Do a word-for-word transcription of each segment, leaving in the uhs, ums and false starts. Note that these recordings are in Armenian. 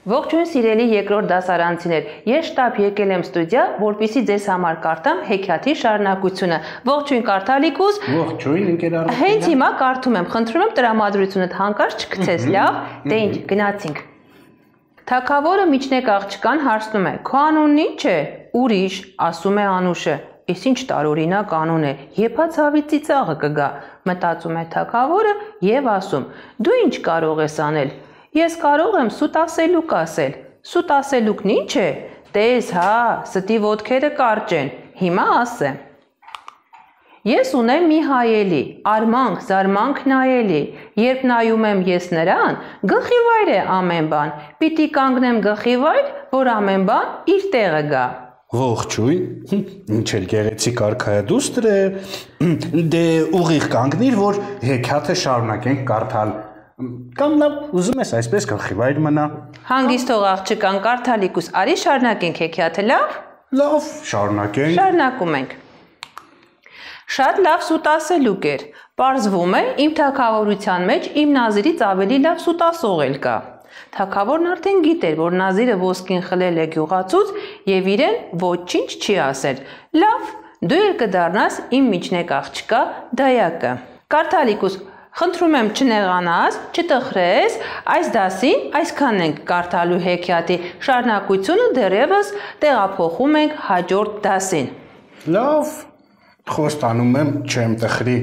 Ողջույն սիրելի երկրորդ դասարանցիներ, ես շտապ եկել եմ ստուդիա, որպեսզի ձեզ համար կարդամ հեքիաթի շարունակությունը։ Ողջույն Կարդալիկուս։ Ողջույն ընկերներ։ Հենց հիմա կարդում եմ, խնդրում եմ տրամադրությունդ հանկարծ չգցես, լավ։ Դե ինչ, գնացինք։ Թագավորը միջնեկ աղջկան հարցնում է. «Քո անունն ի՞նչ է»։ «Ուրիշ», ասում է Անուշը։ «Էս ինչ տարօրինակ անուն է, եփած հավի ծիծաղը կգա», մտածում է թագավորը եւ ասում. «Դու ինչ կարող ես անել»։ Ես կարող եմ սուտ ասելուկ ասել։ Սուտ ասելուկն ի՞նչ է։ Տես, հա, ստի ոտքերը կարճ են։ Հիմա ասեմ։ Ես ունեմ մի հայելի, արմանք, զարմանք նայելի։ Երբ նայում եմ ես նրան, գլխի վայր է ամեն բան։ Պիտի կանգնեմ գլխի վայր, որ ամեն բան իր տեղը գա։ Ողջույն, ինչ էլ գեղեցիկ արքայադուստր է։ Դե ուղիղ կանգնիր, որ հեքիաթը շարունակենք կարդալ։ Կամ լավ, ուզում ես այսպես գլխի վայր մնա։ Հանգիստ թող աղջկան Կարդալիկուս, արի շարունակենք հեքիաթը, լավ։ Լավ, շարունակենք։ Շարունակում ենք։ Շատ լավ սուտ ասելուկ էր։ Պարզվում է, իմ թագավորության մեջ իմ Նազիրից ավելի լավ սուտ ասող էլ կա։ Թագավորն արդեն գիտեր, որ Նազիրը ոսկին խլել է գյուղացուց եւ իրեն ոչինչ չի ասել։ Լավ, դու էլ կդառնաս իմ միջնեկ աղջկա դայակը։ Կարդալիկուս, խնդրում եմ չնեղանաս, չտխրես, այս դասին այսքանն ենք կարդալու հեքիաթի շարունակությունը դեռևս տեղափոխում ենք հաջորդ դասին։ Լավ, խոստանում եմ չեմ տխրի։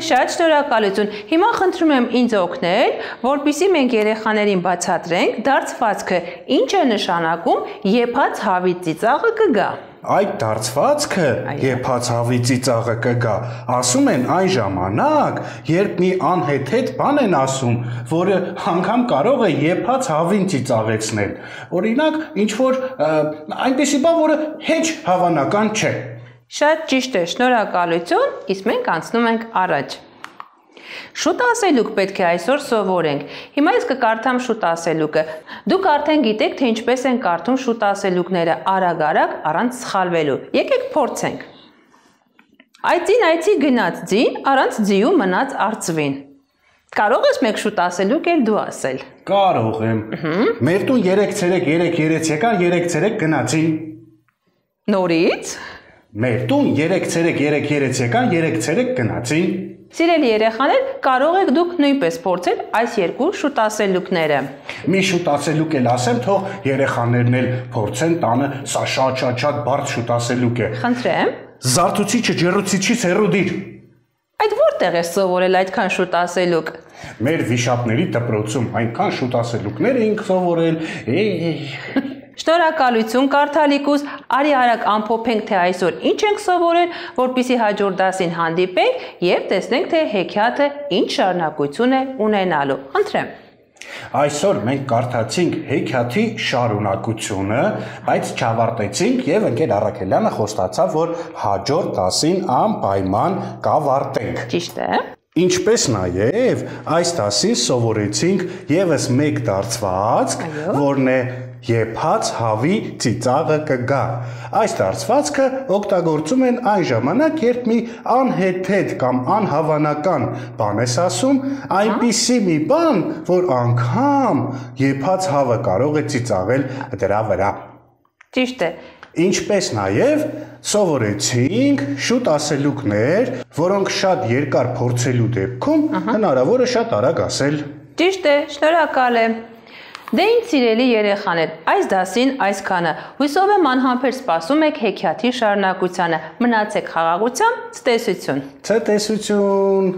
Շատ շնորհակալություն։ Հիմա խնդրում եմ ինձ օգնել, որպեսզի մենք երեխաներին բացատրենք դարձվածքը ինչ է նշանակում եփած հավի ծիծաղը կգա։ Այդ դարձվածքը եփած հավի ծիծաղը կգա, ասում են այն ժամանակ, երբ մի անհեթեթ բան են ասում, որը անգամ կարող է եփած հավին ծիծաղեցնել։ Օրինակ, ինչ որ այնպիսի բան, որը հեչ հավանական չէ։ Շատ ճիշտ է, շնորհակալություն, իսկ մենք անցնում ենք առաջ։ Շուտ ասելուկ պետք է այսօր սովորենք։ Հիմա ես կկարդամ շուտ ասելուկը։ Դուք արդեն գիտեք, թե ինչպես են կարդում շուտ ասելուկները արագ-արագ առանց սխալվելու։ Եկեք փորձենք։ Այծին այծի գնաց ձին, առանց ձիու մնաց արծվին։ Կարող ես մեկ շուտ ասելուկ էլ դու ասել։ Կարող եմ։ Մեր տուն երեք ցերեկ երեք երեց եկան, երեք ցերեկ գնացին։ Նորից։ Մեր տուն երեք ցերեկ երեք երեց եկան, երեք ցերեկ գնացին։ Սիրելի երեխաներ, կարող եք դուք նույնպես փորձել այս երկու շուտ ասելուկները։ Մի շուտ ասելուկ էլ ասեմ, թող երեխաներն էլ փորձեն տանը, սա շատ-շատ բարդ շուտ ասելուկ է։ Խնդրեմ։ Զարթուցիչը ջեռուցիչից հեռու դիր։ Այդ որտեղ է սովորել այդքան շուտ ասելուկ։ Մեր վիշապների դպրոցում այնքան շուտ ասելուկներ էինք սովորել։ Շնորհակալություն Կարդալիկուս, արի արագ ամփոփենք, թե այսօր ինչ ենք սովորել, որպեսզի հաջորդ դասին հանդիպենք եւ տեսնենք, թե հեքիաթը ինչ շարունակություն է ունենալու։ Խնդրեմ։ Այսօր մենք կարդացինք հեքիաթի շարունակությունը, բայց չավարտեցինք եւ ընկեր Առաքելյանը խոստացավ, որ հաջորդ դասին անպայման կավարտենք։ Ճիշտ է։ Ինչպես նաեւ այս դասին սովորեցինք եւս մեկ դարձվածք, որն է եփած հավի ծիծաղը կգա։ Այս դարձվածքը օգտագործում են այն ժամանակ, երբ մի անհեթեթ կամ անհավանական բան ես ասում, այնպիսի մի բան, որ անգամ եփած հավը կարող է ծիծաղել դրա վրա։ Ճիշտ է։ Ինչպես նաև սովորեցինք շուտ ասելուկներ, որոնք շատ երկար փորձելու դեպքում հնարավոր է շատ արագ ասել։ Ճիշտ է, շնորհակալ եմ։ Դե ինչ սիրելի երեխաներ, այս դասին այսքանը։ Հույսով եմ անհամբեր սպասում եք հեքիաթի շարունակությանը։ Մնացեք խաղաղությամբ, ցտեսություն։ Ցտեսություն։